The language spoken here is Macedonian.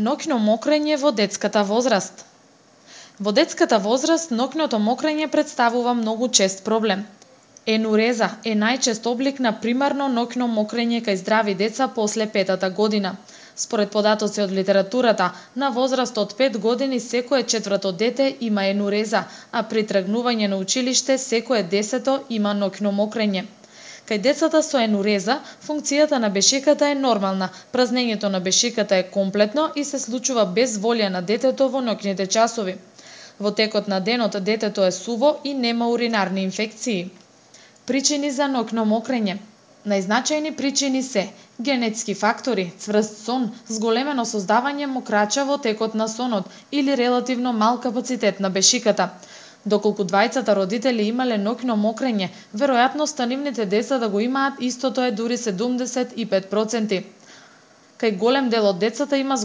Ноќно мокрење во детската возраст. Во детската возраст ноќното мокрење представува многу чест проблем. Енуреза е најчест облик на примарно ноќно мокрење кај здрави деца после 5-та година. Според податоци од литературата, на возраст од 5 години секое 4-то дете има енуреза, а при тргнување на училиште секое 10-то има ноќно мокрење. Кај децата со енуреза, функцијата на бешиката е нормална, празнењето на бешиката е комплетно и се случува без волја на детето во ноќните часови. Во текот на денот детето е суво и нема уринарни инфекции. Причини за ноќно мокрење. Најзначајни причини се генетски фактори, цврст сон, зголемено создавање мокрача во текот на сонот или релативно мал капацитет на бешиката. Доколку двајцата родители имале ноќно мокрење, веројатноста нивните деца да го имаат истото е дури 75%. Кај голем дел од децата има